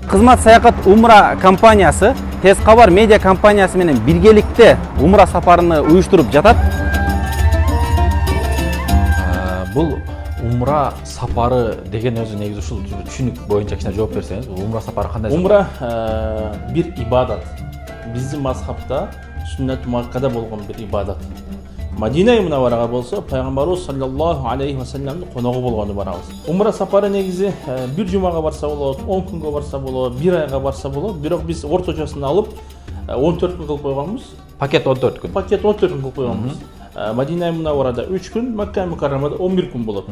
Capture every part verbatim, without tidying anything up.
Кызмат саякат умра компаниясы Тез кабар медиа компаниясы менен биргеликте умра сапарыны уюштуруп жатат. Бул умра сапары деген өзү негизи ушул түшүнүк боюнча кичине жооп берсеңиз, умра сапары кандай? Умра бир ибадат. Биздин мазхабта сүннат муаккада болгон бир ибадат. Мадина Мунавварага болсо пайгамбарыбыз саллаллаху алейхи ва салламдын коногу болгону барабыз. Умра сапары негизи бир жумага барса болот, он күнгө барса болот, бир айга барса болот. Бирок биз орточосун алып он төрт күн кылып койгонбуз. Пакет он төрт күн. Пакет он төрт күн кылып койгонбуз. Мадина Мунавварада үч күн, Макка Мукаррамада он бир күн болот.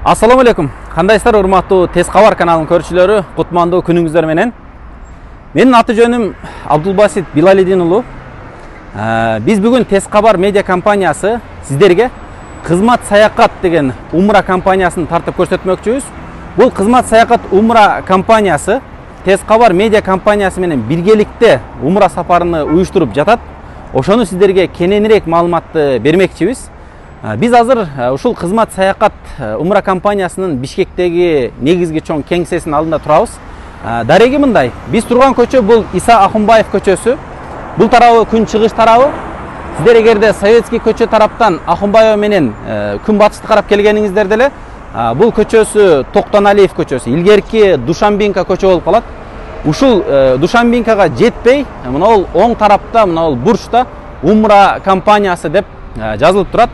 Ассаламу алейкум. Кандайсыздар, урматтуу Тез кабар каналынын көрүүчүлөрү? Кутмандуу күнүңүздөр менен. Менин аты жөнүм Абдулбасит Билалидин уулу. Биз бүгүн Тез кабар медиа компаниясы сиздерге кызмат саякат деген умра компаниясын тартып көрсөтмөкчүбүз. Бул кызмат саякат умра компаниясы Тез кабар медиа компаниясы менен биргеликте умра сапарыны уюштуруп жатат. Ошону сиздерге кененирээк маалыматты бермекчибиз. Биз азыр ушул кызмат саякат умра компаниясынын Бишкектеги негизги чоң кеңсесинин алдында турабыз. Дареги мындай, биз турган көчө бул Иса Ахунбаев көчөсү. Бул тарабы күн чыгыш тарабы. Сиздер эгерде Советский көчө тараптан Ахунбаев менен күн батышты карап келгениңиздер деле, бул көчөсү Токтоналиев көчөсү, илгерки Душанбинка көчө болуп калат. Ушул Душанбинкага жетпей, мына бул оң тарапта, мына бул бурчта умра компаниясы деп жазылып турат.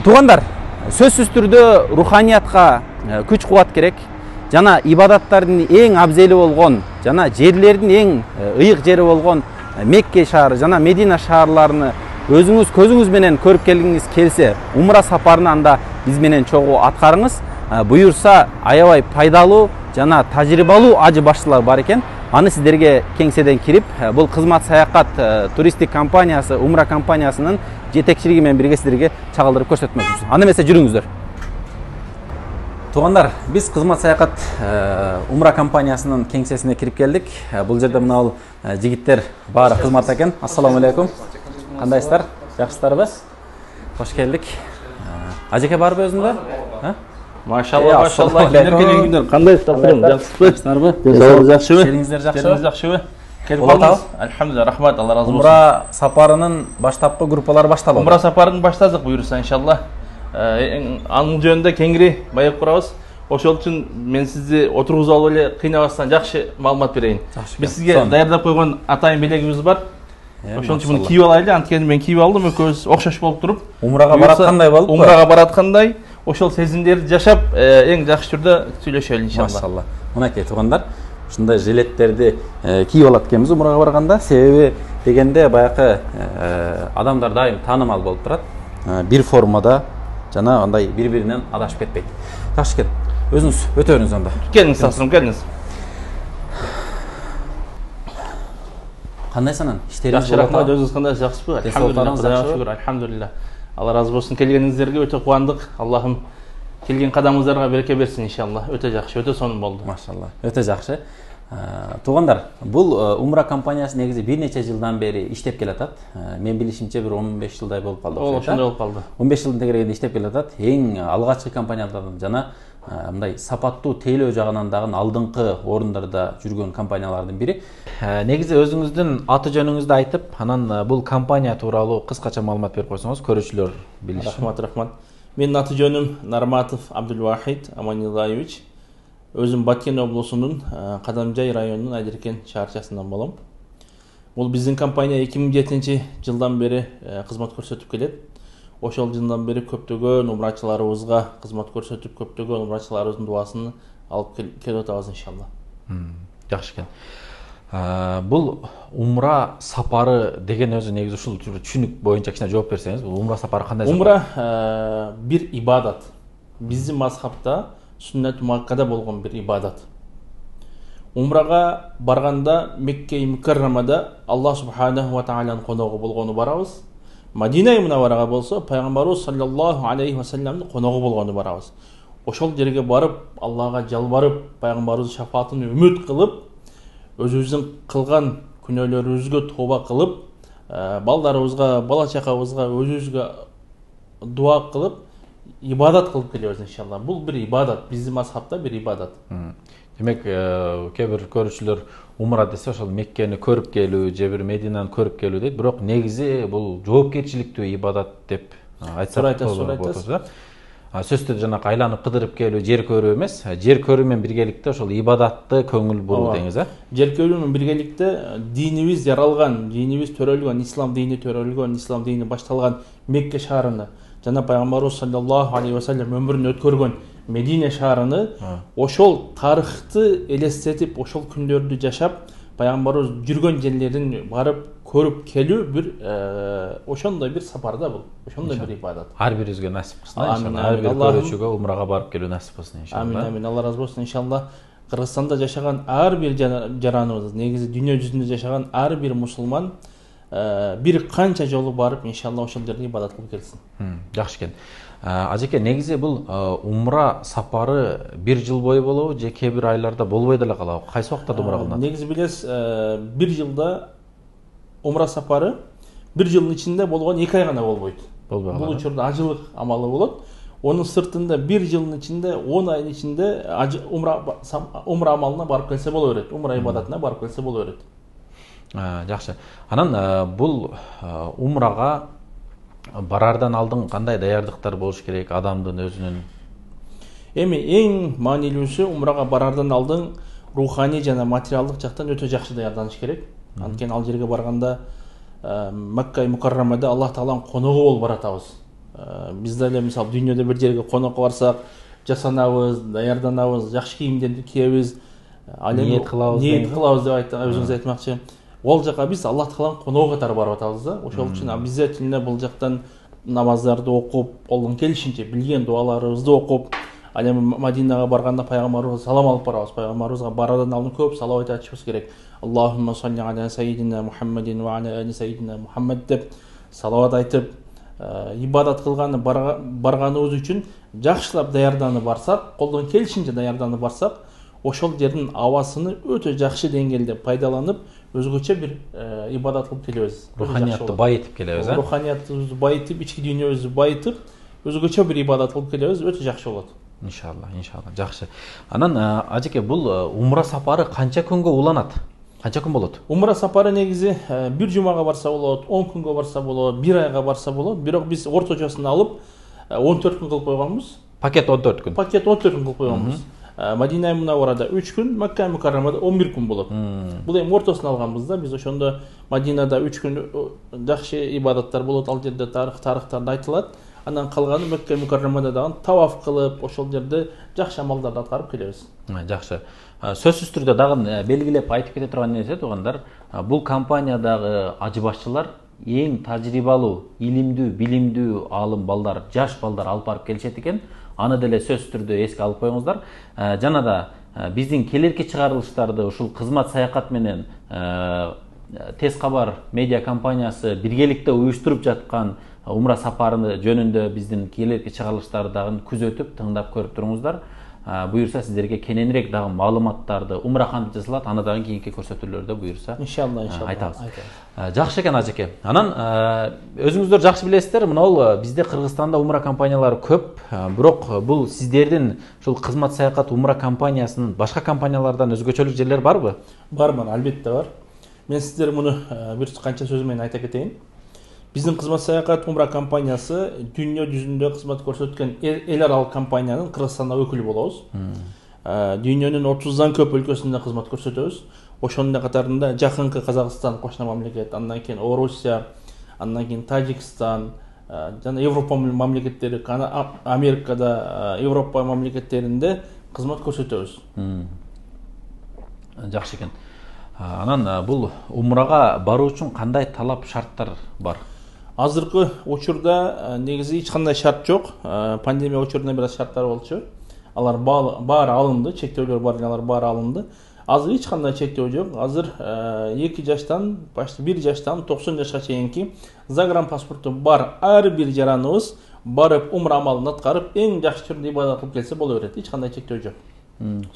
Туугандар, сөзсүз түрдө руханиятка күч кубат керек. Жана ибадаттардын эң абзели болгон, жана жерлердин эң ыйык жери болгон Мекке шаары жана Медина шаарларыны өзүңүз көзүңүз менен көрүп келгиңиз келсе, умра сапарын анда биз менен чогуу аткарыңыз. Буюрса, аябай пайдалуу жана тажрыйбалуу ажы башчылар бар экен. Аны сиздерге кеңседен кирип, бул кызмат саякат туристик компаниясы, умра компаниясынын жетекчилиги менен бирге сиздерге чагылдырып көрсөтмөкчүбүз. Аны эмесе жүрүңүздөр. Туугандар, биз кызмат саякат умра компаниясынын кеңсесине кирип келдик. Бул жерде мына бул жигиттер баары кызматта экен. Ассаламу алейкум. Кандайсыздар? Жакшысыздарбы? Кош келдик. Ажеке барбы өзүндө? Машалла, машалла. Келгендер кандайсыздар? Жакшысызбы? Денсаулыгыңыз жакшыбы? Шериңиздер жакшыбы? Шериңиз жакшыбы? Келип калдыңыз? Альхамдулилlah, рахмат, Алла разы болсун. Умра сапарынын баштапкы группалары башталды. Умра сапарын баштадык буюрса, иншалла. Анын жөнүндө кеңири байып курабыз. Ошол үчүн мен сизди отургузуп алып эле кыйнабастан жакшы маалымат берейин. Биз сизге даярдап койгон атайын белегибиз бар. Ошол үчүн муну кийип алайлы. Анткени мен кийип алдым, экөөбүз окшош болуп туруп. Умрага бараткандай болуп. Умрага бараткандай, ошол сезимдерди жашап, эң жакшы түрдө сүйлөшөлү иншалла. Машалла. Мынакей туугандар, ушундай жилеттерди кийип алат экенбиз умрага барганда. Себеби дегенде баягы адамдар дайым таанымал болуп турат. Бир формада жана андай бири-биринен адашып кетпейт. Жакшы экен. Өзүңүз өтө бериңиз анда. Келиңиз, сасырым, келиңиз. Кандайсың? Иштериңиз жакшы, рахмат. Өзүңүз кандайсыз, жакшысызбы? Альхамдулилlah, Кудайга шүгүр, альхамдулилlah. Алла разы болсун. Келгениңиздерге өтө кубандык. Аллахым келген кадамыңыздарга береке берсин иншалла. Өтө жакшы, өтө сонун болду. Машалла. Өтө жакшы. Туугандар, бул умра компаниясы негизи бир нече жылдан бери иштеп келатат. Мен билишимче бир он беш жылдай болуп калды. Ошондой болуп калды. он беш жылдын тегерегинде иштеп келатат. Эң алгачкы компаниялардан жана мындай сапаттуу тейлөө жагынан дагы алдыңкы орундарда жүргөн компаниялардын бири. Негизи өзүңүздүн аты жөнүңүздү айтып, анан бул компания тууралуу кыскача маалымат берип койсоңуз, көрүүчүлөр билиши. Рахмат, рахмат. Менин аты жөнүм Нарматов Абдулвахид Аманилаевич. Өзүм Баткен облусунун Кадамжай районунун Айдеркен шаарчасынан болом. Бул биздин компания эки миң жетинчи жылдан бери кызмат көрсөтүп келет. Ошол жылдан бери көптөгөн умрачыларыбызга кызмат көрсөтүп, көптөгөн умрачыларыбыздын дубасын алып келип атабыз иншалла. Жакшы экен. Бул умра сапары деген өзү негизи ушул түшүнүк боюнча кичине жооп берсеңиз, бул умра сапары кандай? Умра бир ибадат. Биздин мазхабта сүннат муаккада болгон бир ибадат. Умрага барганда Мекке Мукаррамада Аллах субханаху ва тааланын коногу болгону барабыз. Мадина Мунавварага болсо пайгамбарыбыз саллаллаху алейхи ва салламдын коногу болгону барабыз. Ошол жерге барып, Аллага жалбарып, пайгамбарыбыздын шафаатын үмүт кылып, өзүбүздүн кылган күнөөлөрүбүзгө тооба кылып, балдарыбызга, бала чакабызга, өзүбүзгө дуа кылып, ибадат кылып келебиз иншалла. Бул бир ибадат, биздин мазхабта бир ибадат. Демек, кээ бир көрүүчүлөр умра десе ошол Меккени көрүп келүү же бир Мединаны көрүп келүү дейт, бирок негизи бул жоопкерчиликтүү ибадат деп айтсак болот. Сөзсүз түрдө жанакы айланып кыдырып келүү, жер көрүү эмес, жер көрүү менен биргеликте ошол ибадатты көңүл буруу деңиз, э? Жер көрүү менен биргеликте динибиз жаралган, динибиз төрөлгөн, ислам дини төрөлгөн, ислам дини башталган Мекке шаарыны, жана пайгамбарыбыз саллаллаху алейхи ва саллям өмүрүн өткөргөн Медине шаарыны ошол тарыхты элестетип, ошол күндөрдү жашап, пайгамбарыбыз жүргөн жерлерин барып көрүп келүү бир ошондой бир сапар да бул. Ошондой бир ибадат. Ар бирибизге насип кылсын иншалла. Ар бир көрүүчүгө умрага барып келүү насип кылсын иншалла. Амин, амин. Алла разы болсун иншалла. Кыргызстанда жашаган ар бир жараныбыз, негизи дүйнө жүзүндө жашаган ар бир мусулман бир канча жолу барып иншалла ошол жерде ибадат кылып келсин. Жакшы экен. Ажеке, негизи бул умра сапары бир жыл бою болобу же кээ бир айларда болбой деле калабы? Кайсы убактарда умра кылынат? Негизи билесиз, бир жылда умра сапары бир жылдын ичинде болгон эки ай гана болбойт. Бул учурда ажылык амалы болот. Онун сыртында бир жылдын ичинде, он айдын ичинде умра умра амалына барып келсе боло берет. Умра ибадатына барып келсе боло берет. Жакшы. Анан бул умрага барардан алдын кандай даярдыктар болуш керек адамдын өзүнүн? Эми эң маанилүүсү умрага барардан алдын руханий жана материалдык жактан өтө жакшы даярданыш керек. Анткени ал жерге барганда Макка Мукаррамада Аллах Тааланын коногу болуп баратабыз. Биз деле мисалы дүйнөдө бир жерге конокко барсак, жасанабыз, даярданабыз, жакшы кийимдерди кийебиз, ниет кылабыз, ниет кылабыз деп өзүңүз айтмакчы. Ол жака биз Аллах Тааланын коногу катары барып атабыз да. Ошол үчүн обязательно бул жактан намаздарды окуп, колдон келишинче билген дуаларыбызды окуп, ал эми Мадинага барганда пайгамбарыбызга салам алып барабыз. Пайгамбарыбызга барардан алдын көп салават айтышыбыз керек. Аллахумма салли аля сайидина Мухаммадин ва аля али сайидина Мухаммад деп салават айтып, ибадат кылганы барганыбыз үчүн жакшылап даярданып барсак, колдон келишинче даярданып барсак, ошол жердин абасыны өтө жакшы деңгээлде пайдаланып, өзгөчө бир ибадат кылып келебиз. Руханиятты байытып келебиз, э? Руханиятыбызды байытып, ички дүйнөбүздү байытып, өзгөчө бир ибадат кылып келебиз, өтө жакшы болот. Иншалла, иншалла. Жакшы. Анан ажеке, бул умра сапары канча күнгө уланат? Канча күн болот? Умра сапары негизи бир жумага барса болот, он күнгө барса болот, бир айга барса болот. Бирок биз орточосун алып он төрт күн кылып койгонбуз. Пакет он төрт күн. Пакет он төрт күн кылып койгонбуз. Мадина Мунавварада үч күн, Макка Мукаррамада он бир күн болот. Бул эми ортосун алганбыз да. Биз ошондо Мадинада үч күн жакшы ибадаттар болот, ал жерде тарых тарыхтарды айтылат. Андан калганы Макка Мукаррамада дагы таваф кылып, ошол жерде жакшы амалдарды аткарып келебиз. Жакшы. Сөзсүз түрдө дагы белгилеп айтып кете турган нерсе туугандар, бул компаниядагы ажы башчылар эң тажрыйбалуу, илимдүү, билимдүү алым балдар, жаш балдар алып барып келишет экен. Аны деле сөзсүз түрдө эске алып коюңуздар. Жана да биздин келерки чыгарылыштарды ушул кызмат саякат менен Тез кабар медиа компаниясы биргеликте уюштуруп жаткан умра сапарыны жөнүндө биздин келерки чыгарылыштарды дагы күзөтүп, тыңдап көрүп туруңуздар. Буюрса сиздерге кененирээк дагы маалыматтарды умра кантип жасалат, аны дагы кийинки көрсөтүүлөрдө буюрса иншалла иншалла айтабыз. Жакшы экен ажеке. Анан өзүңүздөр жакшы билесиздер, мына бизде Кыргызстанда умра компаниялары көп, бирок бул сиздердин ушул кызмат саякат умра компаниясынын башка компаниялардан өзгөчөлүк жерлери барбы? Бар, бар, албетте бар. Мен сиздер муну бир канча сөз менен айта кетейин. Биздин кызмат саякат умра компаниясы дүйнө жүзүндө кызмат көрсөткөн эл аралык компаниянын Кыргызстанда өкүлү болобуз. Дүйнөнүн отуздан көп өлкөсүндө кызмат көрсөтөбүз. Ошонун катарында жакынкы Казакстан, кошуна мамлекет, андан кийин Орусия, андан кийин Тажикстан, жана Европа мамлекеттери, Америкада, Европа мамлекеттеринде кызмат көрсөтөбүз. Жакшы экен. Анан бул умрага баруу үчүн кандай талап шарттар бар? Азыркы учурда негизи эч кандай шарт жок. Пандемия учурунда бир аз шарттар болчу. Алар баары алынды, чектөөлөр бар, алар баары алынды. Азыр эч кандай чектөө жок. Азыр эки жаштан, башты бир жаштан токсон жашка чейинки загранпаспорту бар ар бир жараныбыз барып умра амалын аткарып, эң жакшы түрдө ибадат кылып келсе боло берет. Эч кандай чектөө жок.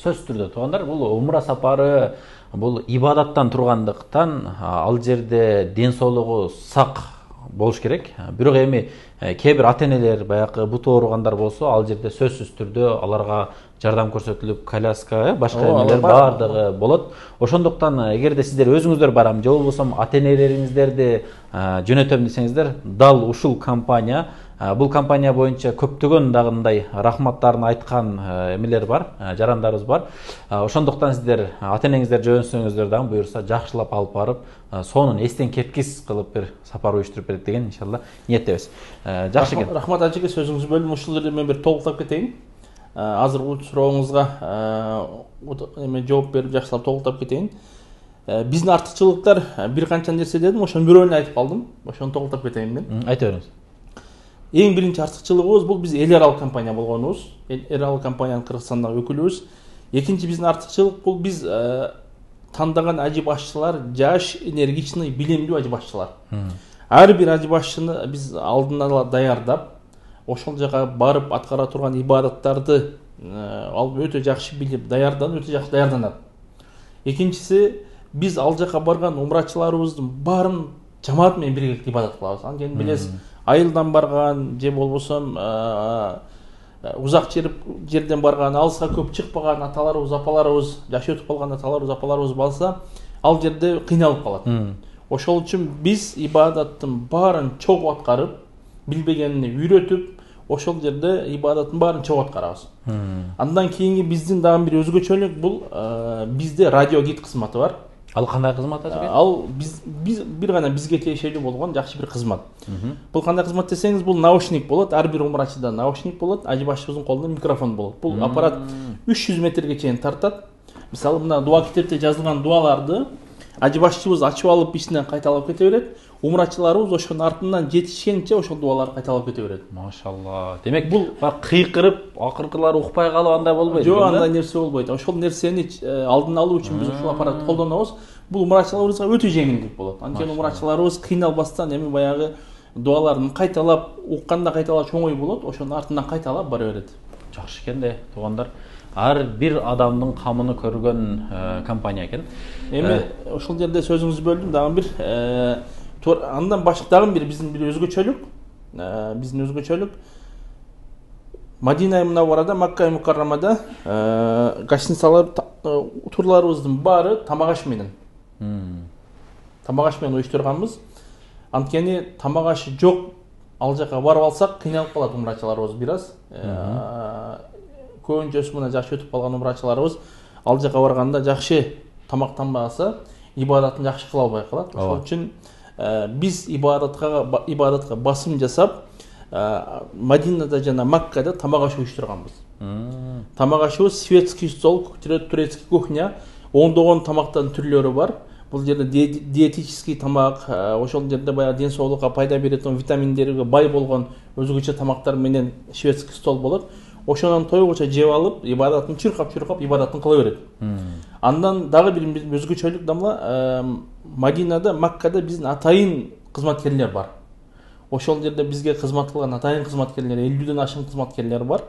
Сөзсүз түрдө туугандар, бул умра сапары бул ибадаттан тургандыктан ал жерде ден соолугу сак болуш керек. Бирок эми кээ бир ата энелер баягы буту ооругандар болсо, ал жерде сөзсүз түрдө аларга жардам көрсөтүлүп, коляска, башка эмелер баардыгы болот. Ошондуктан эгерде сиздер өзүңүздөр барам же болбосо ата энелериңиздерди жөнөтөм десеңиздер, дал ушул компания, бул компания боюнча көптөгөн дагы мындай рахматтарын айткан эмелер бар, жарандарыбыз бар. Ошондуктан сиздер ата энеңиздер жөнөтсөңүздөр дагы буюрса жакшылап алып барып, сонун эстен кеткис кылып бир сапар уюштуруп берет деген иншалла ниеттебиз. Жакшы экен. Рахмат ажеке, сөзүңүздү бөлдүм. Ушул жерде мен бир толуктап кетейин. Азыр бул сурооңузга эме жооп берип жакшылап толуктап кетейин. Биздин артыкчылыктар бир канча нерсе дедим, ошонун бирөөнү айтып калдым. Ошону толуктап кетейин мен. Айта бериңиз. Эң биринчи артыкчылыгыбыз бул биз эл аралык компания болгонубуз. Эл аралык компаниянын Кыргызстандагы өкүлүбүз. Экинчи биздин артыкчылык бул биз тандаган ажы башчылар жаш, энергичный, билимдүү ажы башчылар. Ар бир ажы башчыны биз алдын ала даярдап, ошол жака барып аткара турган ибадаттарды алып өтө жакшы билип даярданып, өтө жакшы даярданат. Экинчиси, биз ал жака барган умрачыларыбыздын баарын жамаат менен биргеликте ибадат кылабыз. Анткени билесиз, айылдан барган же болбосо узак жерден барган, алыска көп чыкпаган аталарыбыз, апаларыбыз, жашы өтүп калган аталарыбыз, апаларыбыз балса, ал жерде кыйналып калат. Ошол үчүн биз ибадаттын баарын чогуу аткарып, билбегенин үйрөтүп, ошол жерде ибадаттын баарын чогуу аткарабыз. Андан кийинки биздин дагы бир өзгөчөлүк бул бизде радио гид кызматы бар. Ал кандай кызмат ажеке? Ал биз биз бир гана бизге тиешелүү болгон жакшы бир кызмат. Бул кандай кызмат десеңиз, бул наушник болот, ар бир умрачыда наушник болот, ажы башчыбыздын колунда микрофон болот. Бул аппарат үч жүз метрге чейин тартат. Мисалы, мына дуа китепте жазылган дуаларды ажы башчыбыз ачып алып ичинен кайталап кете берет. Умрачыларыбыз ошонун артынан жетишкенче ошол дуаларды кайталап кете берет. Машалла. Демек бул кыйкырып, акыркылары укпай калып андай болбойт. Жок, андай нерсе болбойт. Ошол нерсени алдын алуу үчүн биз ушул аппаратты колдонобуз. Бул умрачыларыбызга өтө жеңилдик болот. Анткени умрачыларыбыз кыйналбастан эми баягы дуаларын кайталап, укканда кайталап чоң ой болот, ошонун артынан кайталап бара берет. Жакшы экен да, туугандар. Ар бир адамдын камын көргөн компания экен. Эми ошол жерде сөзүңүздү бөлдүм, дагы бир андан башка дагы бир биздин бир өзгөчөлүк, биздин өзгөчөлүк Мадина Мунавварада, Макка Мукаррамада гостиницалар, турларыбыздын баары тамак аш менен. Тамак аш менен уюштурганбыз. Анткени тамак ашы жок, ал жака барып алсак кыйналып калат умрачыларыбыз бир аз. Көбүнчөсү мына жашы өтүп калган умрачыларыбыз ал жака барганда жакшы тамактанбаса, ибадатын жакшы кыла албай калат. Ошол үчүн биз ибадатка ибадатка басым жасап, Мадинада жана Маккада тамак аш уюштурганбыз. Тамак ашыбыз светский стол, турецкий кухня, ондогон тамактын түрлөрү бар. Бул жерде диетический тамак, ошол жерде баягы ден соолукка пайда беретін витаминдерге бай болгон өзгөчө тамактар менен шведский стол болот. Ошонун тойгуча жеп алып, ибадатын чуркап-чуркап ибадатын кыла берет. Андан дагы бир өзгөчөлүк дамла, Мадинада, Маккада биздин атайын кызматкерлер бар. Ошол жерде бизге кызмат кылган атайын кызматкерлер, элүүдөн ашык кызматкерлер бар.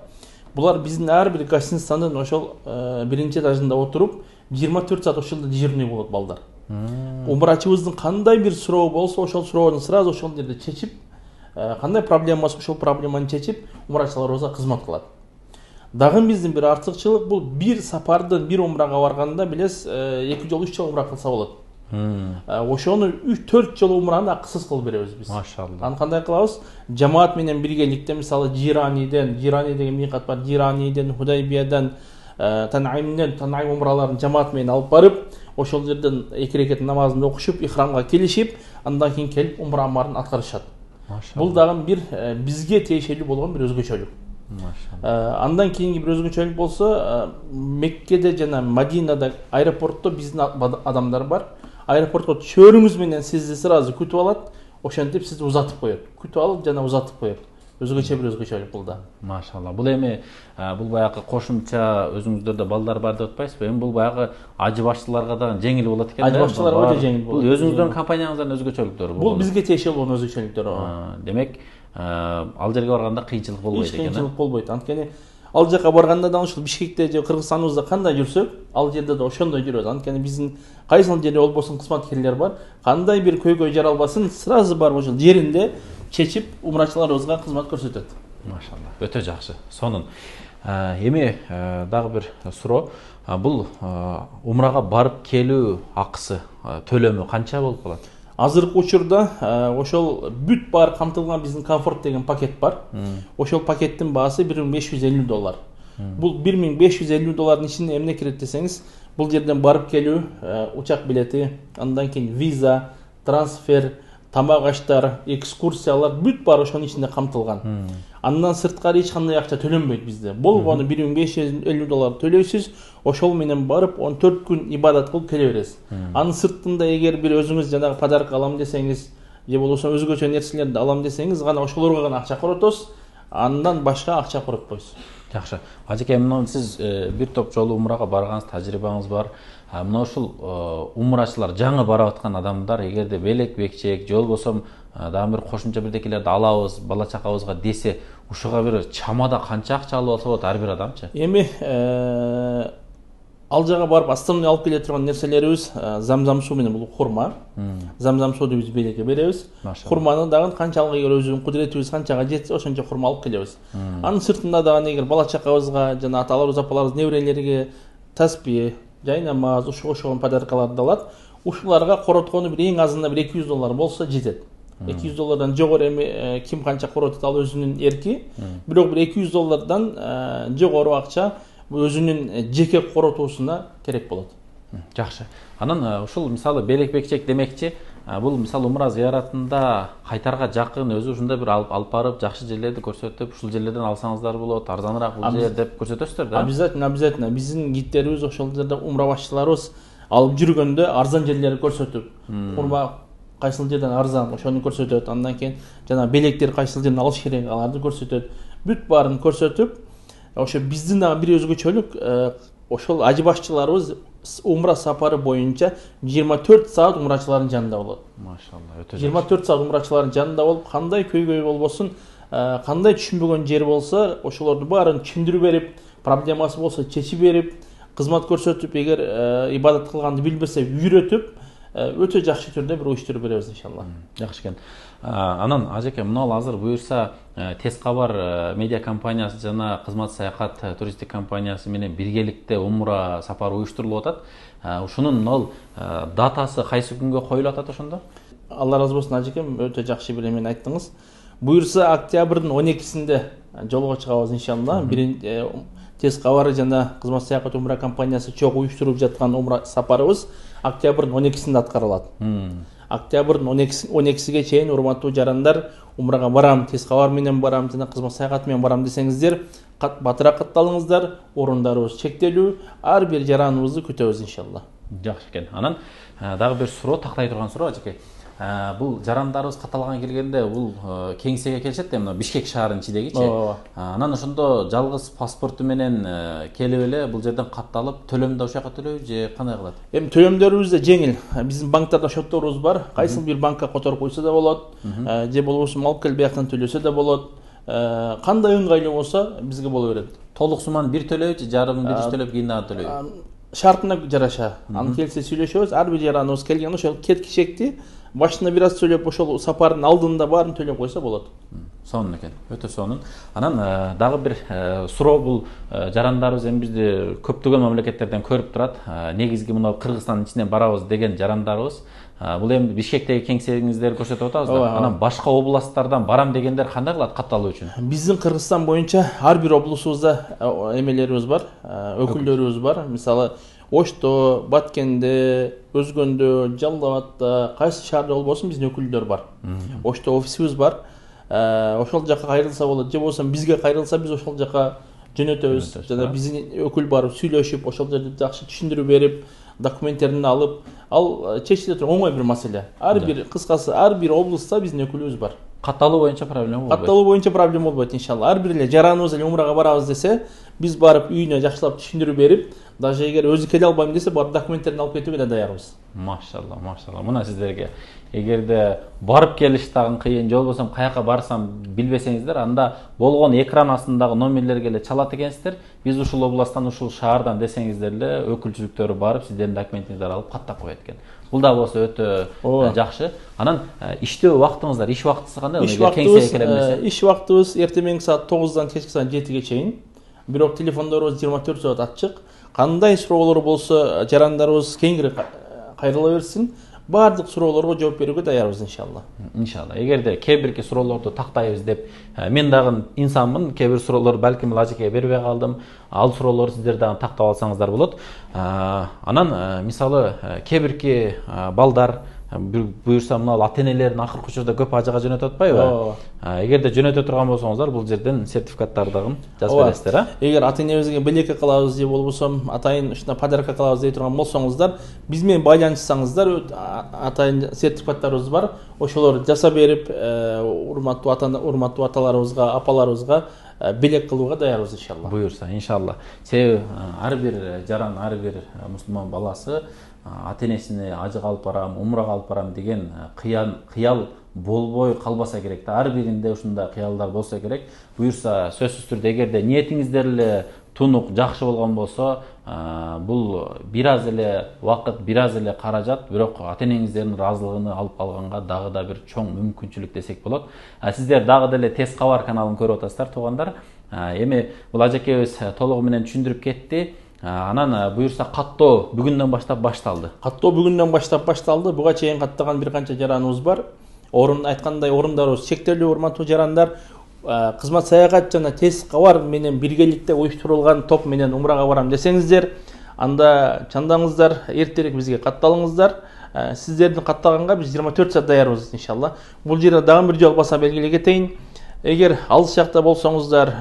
Булар биздин ар бир гостиницанын ошол биринчи этажында отуруп, жыйырма төрт саат ошол жерде дежурный болот балдар. Умрачыбыздын кандай бир суроо болсо, ошол суроону сразу ошол жерде чечип, кандай проблема болсо, ошол проблеманы чечип, умрачыларыбызга кызмат кылат. Дагы биздин бир артыкчылык бул бир сапардын бир умрага барганда билес, эки жолу үч жолу умра кылса болот. Ошону үч төрт жолу умраны акысыз кылып беребиз биз. Машалла. Аны кандай кылабыз? Жамаат менен биргеликте, мисалы Жираниден, Жирани деген мыйкат бар, Жираниден, Худайбиядан, Танаимден, Танаим умраларын жамаат менен алып барып, ошол жерден эки рекет намазын окушуп, ихрамга келишип, андан кийин келип умра амарын аткарышат. Бул дагы бир бизге тиешелүү болгон бир өзгөчөлүк. Андан кийинки бир өзгөчөлүк болсо, Меккеде жана Мадинада аэропортто биздин адамдар бар. Аэропортко чөөрүңүз менен сизди сразу күтүп алат, ошентип сизди узатып коет. Күтүп алып жана узатып коет. Өзгөчө бир өзгөчөлүк бул да. Машалла. Бул эми бул баягы кошумча өзүңүздөрдө балдар бар деп атпайсызбы? Эми бул баягы ажы башчыларга да жеңил болот экен. Ажы башчыларга да жеңил болот. Бул өзүңүздөрдүн компанияңыздын өзгөчөлүктөрү бул. Бул бизге тиешелүү болгон өзгөчөлүктөр. Демек, ал жерге барганда кыйынчылык болбойт экен. Кыйынчылык болбойт. Анткени ал жака барганда да ушул Бишкекте же Кыргызстаныбызда кандай жүрсөк, ал жерде да ошондой жүрөбүз. Анткени биздин кайсыл жерде болбосун кызматкерлер бар. Кандай бир көйгөй жаралбасын, сразу барып ошол жеринде чечип умрачыларыбызга кызмат көрсөтөт. Машалла, өтө жакшы. Сонун. Эми дагы бир суроо. Бул умрага барып келүү акысы, төлөмү канча болуп калат? Азыркы учурда ошол бүт баары камтылган биздин комфорт деген пакет бар. Ошол пакеттин баасы бир миң беш жүз элүү доллар. Бул бир миң беш жүз элүү доллардын ичинде эмне кирет десеңиз, бул жерден барып келүү, учак билети, андан кийин виза, трансфер, тамак аштар, экскурсиялар бүт баары ошонун ичинде камтылган. Андан сырткары эч кандай акча төлөнбөйт бизде. Болгону бир миң беш жүз элүү доллар төлөйсүз, ошол менен барып он төрт күн ибадат кылып келе бересиз. Анын сыртында эгер бир өзүңүз жанагы подарок алам десеңиз, же болбосо өзгөчө нерселерди алам десеңиз, гана ошолорго гана акча коротосуз, андан башка акча коротпойсуз. Жакшы. Ажеке, мына сиз бир топ жолу умрага баргансыз, тажрыйбаңыз бар. Мына ушул умрачылар, жаңы барып аткан адамдар эгерде белек бекчек, же болбосо дагы бир кошумча бирдекелерди алабыз, бала чакабызга десе, ушуга бир чамада канча акча алып алса болот ар бир адамчы? Эми ал жака барып основной алып келе турган нерселерибиз замзам суу менен бул хурма. Замзам сууну биз белекке беребиз. Хурманы дагы канчалык эгер өзүнүн кудуретибиз канчага жетсе, ошончо хурма алып келебиз. Анын сыртында дагы эгер бала чакабызга жана аталарыбыз, апаларыбыз, неберелерге таспih, жай намаз, ушуга окшогон подаркаларды алат. Ушуларга короткону бир эң азында бир эки жүз доллар болсо жетет. эки жүз доллардан жогору эми ким канча коротот ал өзүнүн эрки. Бирок бир эки жүз доллардан жогору акча өзүнүн жеке коротуусуна керек болот. Жакшы. Анан ушул мисалы белек бекчек демекчи, бул мисалы умра зыяратында кайтарга жакын өзү ушундай бир алып алып барып жакшы жерлерди көрсөтүп, ушул жерлерден алсаңыздар болот, арзаныраак бул жер деп көрсөтөсүздөр да? Обязательно, обязательно. Биздин гидтерибиз ошол жерде умра башчыларыбыз алып жүргөндө арзан жерлерди көрсөтүп, хурма кайсыл жерден арзан ошону көрсөтөт. Андан кийин жана белектер кайсыл жерден алыш керек, аларды көрсөтөт. Бүт баарын көрсөтүп, ошо биздин дагы бир өзгөчөлүк, ошол ажы башчыларыбыз умра сапары боюнча жыйырма төрт саат умрачылардын жанында болот. Машалла, өтө жакшы. жыйырма төрт саат умрачылардын жанында болуп, кандай көйгөй болбосун, кандай түшүнбөгөн жер болсо, ошолорду баарын түшүндүрүп берип, проблемасы болсо чечип берип, кызмат көрсөтүп, эгер ибадат кылганды билбесе үйрөтүп, өтө жакшы түрдө бир уюштуруп беребиз иншалла. Жакшы экен. Анан ажеке, мына азыр буюрса Тез кабар медиа компаниясы жана кызмат саякат туристик компаниясы менен биргеликте умра сапары уюштурулуп атат. Ушунун ал датасы кайсы күнгө коюлуп атат ошондо? Алла разы болсун ажекем, өтө жакшы бир эмени айттыңыз. Буюрса октябрдын он экисинде жолго чыгабыз иншалла. Биринчи Тез кабары жана кызмат саякат умра компаниясы чогуу уюштуруп жаткан умра сапарыбыз октябрдын он экисинде аткарылат. Октябрдын он экисиге чейин урматтуу жарандар, умрага барам, Тез кабар менен барам жана кызмат саякат менен барам десеңиздер, батыраак катталыңыздар, орундарыбыз чектелүү, ар бир жараныбызды күтөбүз иншалла. Жакшы экен. Анан дагы бир суроо, тактай турган суроо ажеке. Бул жарандарыбыз катталган келгенде бул кеңсеге келишет да, мына Бишкек шаарынын ичидегичи. Анан ошондо жалгыз паспорту менен келип эле бул жерден катталып, төлөмдү ошол жака төлөйбү же кандай кылат? Эми төлөмдөрүбүз да жеңил. Биздин банктарда счетторубуз бар. Кайсыл бир банкка которуп койсо да болот, же болбосо алып келип бияктан төлөсө да болот. Кандай ыңгайлуу болсо бизге боло берет. Толук сумманы бир төлөйбү, жарымын биринчи төлөп кийин дагы төлөйбү? Шартына жараша. Аны келсе сүйлөшөбүз. Ар бир жараныбыз келген ошол кеткичекти башына бир аз төлөп, ошол сапардын алдында баарын төлөп койсо болот. Сонун экен, өтө сонун. Анан дагы бир суроо, бул жарандарыбыз эми бизди көптөгөн мамлекеттерден көрүп турат. Негизги мына Кыргызстандын ичинен барабыз деген жарандарыбыз. Бул эми Бишкектеги кеңсеңиздерди көрсөтүп атабыз да. Анан башка областтардан барам дегендер кандай кылат катталуу үчүн? Биздин Кыргызстан боюнча ар бир облусубузда эмелерибиз бар, өкүлдөрүбүз бар. Мисалы Ошто, Баткенде, Өзгөндө, Жалал Абадта, кайсы шаарда болбосун биздин өкүлдөр бар. Ошто офисибиз бар. Ошол жака кайрылса болот, же болбосо бизге кайрылса биз ошол жака жөнөтөбүз. Жана биздин өкүл барып сүйлөшүп, ошол жерде жакшы түшүндүрүп берип, документтерин алып, ал чечиле турган оңой бир маселе. Ар бир кыскасы ар бир облуста биздин өкүлүбүз бар. Катталуу боюнча проблема болбойт. Катталуу боюнча проблема болбойт иншалла. Ар бир эле жараныбыз эле умрага барабыз десе, биз барып үйүнө жакшылап түшүндүрүп берип, даже эгер өзү келе албайм десе бар документтерин алып кетүүгө да даярбыз. Машалла, машалла. Мына сиздерге эгерде барып келиш дагы кыйын, же болбосо каяка барсам билбесеңиздер, анда болгон экран астындагы номерлерге эле чалат экенсиздер. Биз ушул областтан, ушул шаардан десеңиздер эле өкүлчүлүктөрү барып сиздердин документиңиздерди алып каттап коет экен. Бул да болсо өтө жакшы. Анан иштөө убактыңыздар, иш убактысы кандай? Иш убактыбыз, иш убактыбыз эртең саат тогуздан кечки саат жетиге чейин. Бирок телефондорубуз жыйырма төрт саат ачык. Кандай суроолор болсо жарандарыбыз кеңири кайрыла берсин. Бардык суроолорго жооп берүүгө даярбыз иншалла. Иншалла. Эгерде кээ бирки суроолорду тактайбыз деп, мен дагы инсанмын, кээ бир суроолор балким лажикеге бербей калдым. Ал суроолорду сиздер дагы тактап алсаңыздар болот. Анан мисалы кээ бирки балдар буюрса мына ата-энелерин акыркы учурда көп ажыга жөнөтүп атпайбы? Эгерде жөнөтө турган болсоңуздар, бул жерден сертификаттарды дагы жазып бересиздер, а? Эгер ата-энебизге белекке кылабыз же болбосо атайын ушундай подарка кылабыз дей турган болсоңуздар, биз менен байланышсаңыздар, атайын сертификаттарыбыз бар. Ошолорду жасап берип, урматтуу ата урматтуу аталарыбызга, апаларыбызга белек кылууга даярбыз иншалла. Буюрса, иншалла. Себеби ар бир жаран, ар бир мусулман баласы ата-энесине ажыга алып барам, умрага алып барам деген кыял болбой калбаса керек да. Ар биринде ушундай кыялдар болсо керек. Буюрса, сөзсүз түрдө эгерде ниетиңиздер эле тунук жакшы болгон болсо, бул бир аз эле убакыт, бир аз эле каражат, бирок ата-энеңиздердин ыраазылыгын алып алганга дагы да бир чоң мүмкүнчүлүк десек болот. Сиздер дагы деле Тез кабар каналын көрүп атасыздар, туугандар. Эми бул ажакебиз толугу менен түшүндүрүп кетти. Анан буюрса каттоо бүгүндөн баштап башталды. Каттоо бүгүндөн баштап башталды. Буга чейин каттаган бир канча жараныбыз бар. Орун айткандай орундарыбыз чектелүү, урматтуу жарандар. Кызмат саякат жана Тез кабар менен биргеликте уюштурулган топ менен умрага барам десеңиздер, анда чандаңыздар, эртерээк бизге катталыңыздар. Сиздердин каттаганга биз жыйырма төрт саат даярбыз иншалла. Бул жерде дагы бир жолу баса белгилей кетейин. Эгер алыс жакта болсоңуздар,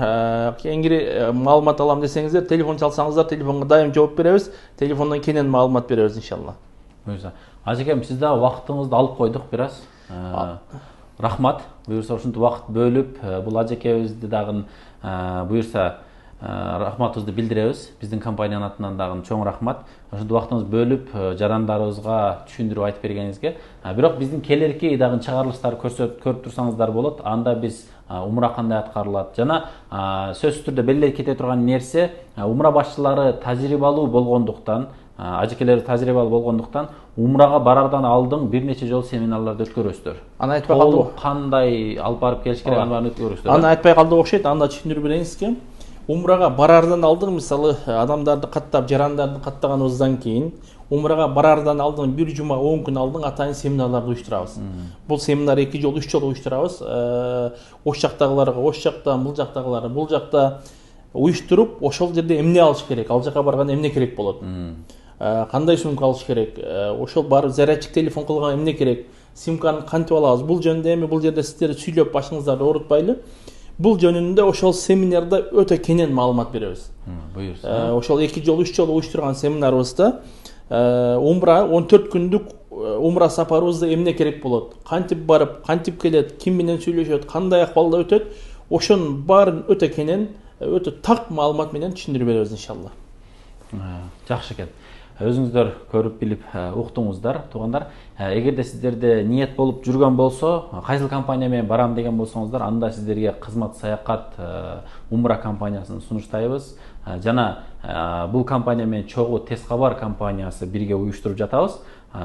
кеңири маалымат алам десеңиздер, телефон чалсаңыздар, телефонго дайым жооп беребиз. Телефондон кенен маалымат беребиз иншалла. Буюрса, ажекем, сиз дагы убактыңызды алып койдук бир аз. Рахмат. Буюрса, ушунтип убакыт бөлүп, бул ажекебизди дагы буюрса рахматыбызды билдиребиз. Биздин компаниянын атынан дагы чоң рахмат. Ошонтип убактыңызды бөлүп, жарандарыбызга түшүндүрүп айтып бергениңизге. Бирок биздин келерки дагы чыгарылыштарды көрсөтүп көрүп турсаңыздар болот. Анда биз умра кандай аткарылат жана сөзсүз түрдө белгилеп кете турган нерсе, умра башчылары тажрыйбалуу болгондуктан, ажекелери тажрыйбалуу болгондуктан умрага барардан алдын бир нече жолу семинарларды өткөрөсүздөр. Аны айтпай калдык. Кандай алып барып келиш керек, аны баарын өткөрөсүздөр. Аны айтпай калдык окшойт, аны да түшүндүрүп берейин сизге. Умрага барардан алдын, мисалы, адамдарды каттап, жарандарды каттаганыбыздан кийин, умрага барардан алдын бир жума, он күн алдын атайын семинарларды уюштурабыз. Бул семинар эки жолу, үч жолу уюштурабыз. Ош жактагыларга, ош жактан, бул жактагылар, бул жакта уюштуруп, ошол жерде эмне алыш керек, ал жака барганда эмне керек болот? Кандай сумка алыш керек? Ошол барып зарядчик телефон кылганга эмне керек? Симканы кантип алабыз? Бул жөнүндө эми бул жерде сиздер сүйлөп башыңыздарды оорутпайлы. Бул жөнүндө ошол семинарда өтө кенен маалымат беребиз. Буюрса. Ошол эки жолу, үч жолу уюштурган семинарыбызда умра он төрт күндүк умра сапарыбызда эмне керек болот? Кантип барып, кантип келет, ким менен сүйлөшөт, кандай акыбалда өтөт? Ошонун баарын өтө кенен, өтө так маалымат менен түшүндүрүп беребиз иншалла. Жакшы экен. Өзүңүздөр көрүп билип уктуңуздар, туугандар. Эгерде сиздерде ниет болуп жүргөн болсо, кайсыл компания менен барам деген болсоңуздар, анда сиздерге кызмат саякат умра компаниясын сунуштайбыз. Жана бул компания менен чогуу Тез кабар компаниясы бирге уюштуруп жатабыз.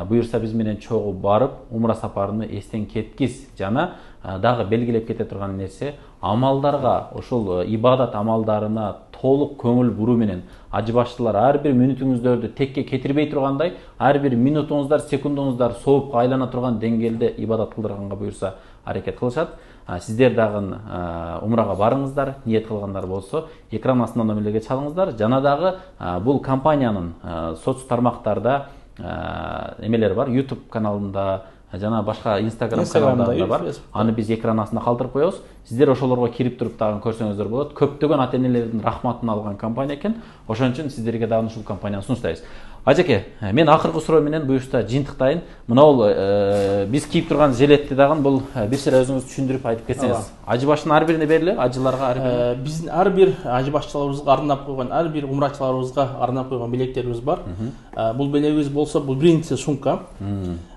Буюрса биз менен чогуу барып, умра сапарыны эстен кеткиз. Жана дагы белгилеп кете турган нерсе, амалдарга, ошол ибадат амалдарына толук көңүл буруу менен ажы башчылар ар бир мүнөтүңүздөрдү текке кетирбей тургандай, ар бир минутуңуздар, секундуңуздар соопко айлана турган деңгээлде ибадат кылдырганга буюрса аракет кылышат. Сиздер дагы умрага барыңыздар, ниет кылгандар болсо, экран астында номерлерге чалыңыздар. Жана дагы бул компаниянын соц тармактарда эмелери бар, YouTube каналында, жана башка Instagram каналдарында бар. Аны биз экран астында калтырып коебуз. Сиздер ошолорго кирип туруп дагы көрсөңүздөр болот. Көптөгөн ата-энелердин рахматын алган компания экен. Ошон үчүн сиздерге дагы ушул компанияны сунуштайбыз. Ажеке, мен акыркы суроо менен буюрса жыйынтыктайын. Мына бул биз кийип турган жилетти дагы бул бир сыйра өзүңүз түшүндүрүп айтып кетсеңиз. Ажы башынын ар бирине бериле, ажыларга ар бирине. Биздин ар бир ажы башчыларыбызга арнап койгон, ар бир умрачыларыбызга арнап койгон белектерибиз бар. Бул белегибиз болсо бул биринчи сумка.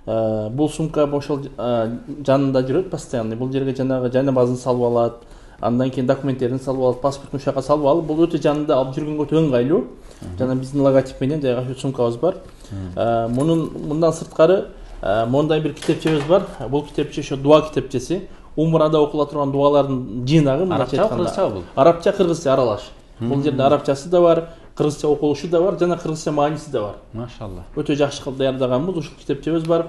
Бул сумка ошол жанында жүрөт постоянно. Бул жерге жанагы жана базын салып алат. Андан кийин документтерин салып алып, паспорттун ушака салып алып, бул өтө жанында алып жүргөнгө өтө ыңгайлуу. Жана биздин логотип менен жайгашуу сумкабыз бар. Мунун мындан сырткары мондай бир китепчебиз бар. Бул китепче ошо дуа китепчеси. Умрада окула турган дуалардын жыйнагы. Арабча, кыргызча бул? Арабча, кыргызча аралаш. Бул жерде арабчасы да бар, кыргызча окулушу да бар, жана кыргызча мааниси да бар. Машалла. Өтө жакшы кылып даярдаганбыз, ушул китепчебиз бар.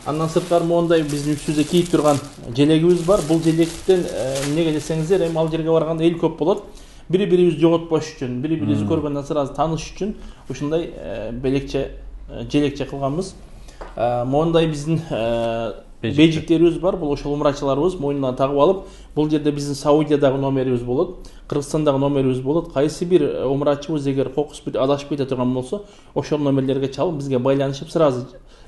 Андан сырткары мондай биздин үстүбүздө кийип турган желегибиз бар. Бул желектен эмнеге десеңиздер, эми ал жерге барганда эл көп болот. Бири-бирибизди жоготпош үчүн, бири-бирибизди көргөндөн сразу тааныш үчүн ушундай белекче, желекче кылганбыз. Мондай биздин бейжиктерибиз бар. Бул ошол умрачыларыбыз мойнуна тагып алып, бул жерде биздин Саудиядагы номерибиз болот, Кыргызстандагы номерибиз болот. Кайсы бир умрачыбыз эгер кокус бир адашып кете турган болсо, ошол номерлерге чалып бизге байланышып сразу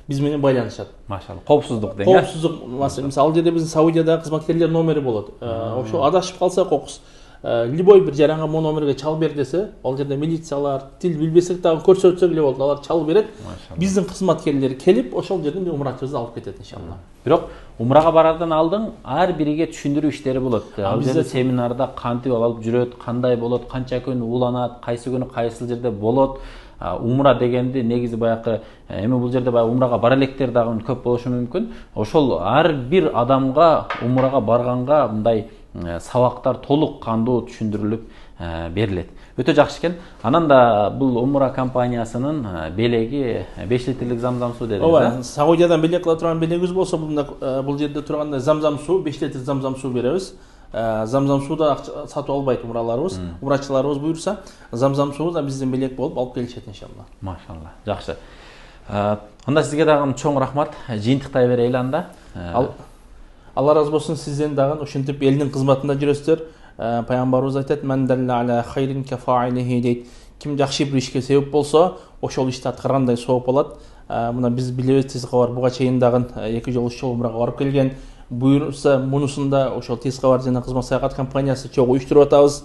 биз менен байланышат. Машалла. Коопсуздук деген. Коопсуздук, мисалы, ал жерде биздин Саудиядагы кызматкерлер номери болот. Ошо адашып калса кокус, любой бир жаранга могу номерге чалып бер десе, ал жерде милициялар, тил билбесек дагы көрсөтсөк эле болот, алар чалып берет. Биздин кызматкерлер келип, ошол жерден умрачыбызды алып кетет иншалла. Бирок умрага барардан алдын ар бириге түшүндүрүү иштери болот. Ал жерде семинарда кантип алып жүрөт, кандай болот, канча күн ууланат, кайсы күнү кайсыл жерде болот. Умра дегенди негизи баягы эми бул жерде баягы умрага бара электер дагы көп болушу мүмкүн. Ошол ар бир адамга умрага барганга мындай сабактар толук кандуу түшүндүрүлүп берилет. Өтө жакшы экен. Анан да бул умра компаниясынын белеги беш литрлик замзам суу дедиңиз. Ооба, Саудиядан белек кыла турган белегибиз болсо, бул жерде турганда замзам суу, беш литр замзам суу беребиз. Замзам сууda сатып албайт умраларыбыз, умрачыларыбыз буюрса, замзам суу да биздин белек болуп алып келишет иншалла. Машалла. Жакшы. Анда сизге дагы чоң рахмат. Жыйынтыктай берели анда. Алла разы болсун, сизден дагы ушинтип элдин кызматында жүрөсүздөр. Пайгамбарыбыз айтат: "Мен далла аля хайрин кафаилихи" дейт. Ким жакшы бир ишке себеп болсо, ошол ишти аткаргандай сооп алат. Мына биз билебиз, тез кабар буга чейин дагы эки жолу үч жолу умрага барып келген. Буюрса мунусунда ошол тез кабар жана кызмат саякат компаниясы чогуу уюштуруп атабыз.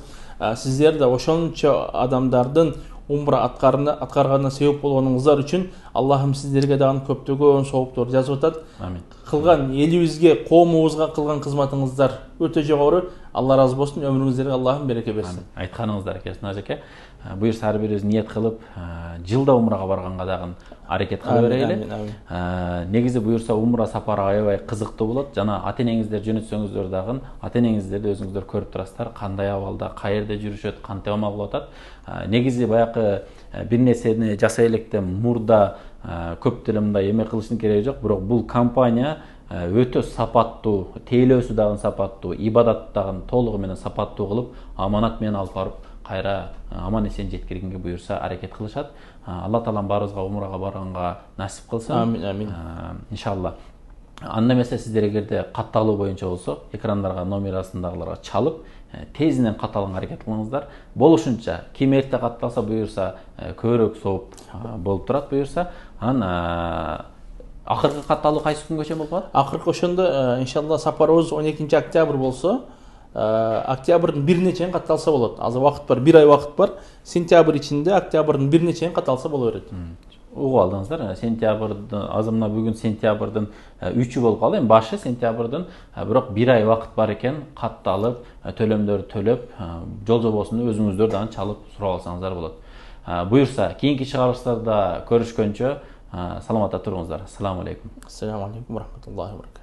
Сиздер да ошончо адамдардын умра аткарганына себеп болгонуңуздар үчүн Аллахым сиздерге дагы көптөгөн сооптор жазып атат. Амин. Кылган элибизге, коомубузга кылган кызматыңыздар өтө жогору. Алла разы болсун, өмүрүңүздөргө Аллахым береке берсин. Айтканыңыздар келсин ажеке. Буюрса ар бирибиз ниет кылып, жылда умрага барганга дагы аракет кыла берели. Негизи буюрса умра сапары аябай кызыктуу болот. Жана ата-энеңиздер жөнөтсөңүздөр дагы, ата-энеңиздерди өзүңүздөр көрүп турасыздар, кандай абалда, каерде жүрүшөт, кантип амал кылып атат. Негизи баягы бир нерсени жасай электе мурда көп деле мындай эме кылыштын кереги жок, бирок бул компания өтө сапаттуу, тейлөөсү дагы сапаттуу, ибадат дагы толугу менен сапаттуу кылып, аманат менен алып барып кайра аман эсен жеткиргенге буюрса аракет кылышат. Алла таалам баарыбызга умрага барганга насип кылсын. Амин, амин. Иншалла. Анда эмесе сиздер эгерде катталуу боюнча болсо, экрандарга номер астындагыларга чалып, тезинен катталганга аракет кылыңыздар. Болушунча ким эрте катталса буюрса көбүрөөк сооп болуп турат буюрса. Анан акыркы катталуу кайсы күнгө чейин болуп калат? Акыркы ошондо иншалла сапарыбыз он экинчи октябрь болсо, октябрдын бирине чейин катталса болот. Азыр убакыт бар, бир ай убакыт бар. Сентябрь ичинде октябрдын бирине чейин катталса боло берет. Угуп алдыңыздар. Сентябрдын азыр мына бүгүн сентябрдын үчү болуп калды. Эми башы сентябрдын, бирок бир ай убакыт бар экен. Катталып, төлөмдөрдү төлөп, жол жобосун өзүңүздөр дагы чалып сурап алсаңыздар болот. Буюрса, кийинки чыгарылыштарда көрүшкөнчө саламатта туруңуздар. Ассаламу алейкум. Ассаламу алейкум ва рахматуллахи ва баракатух.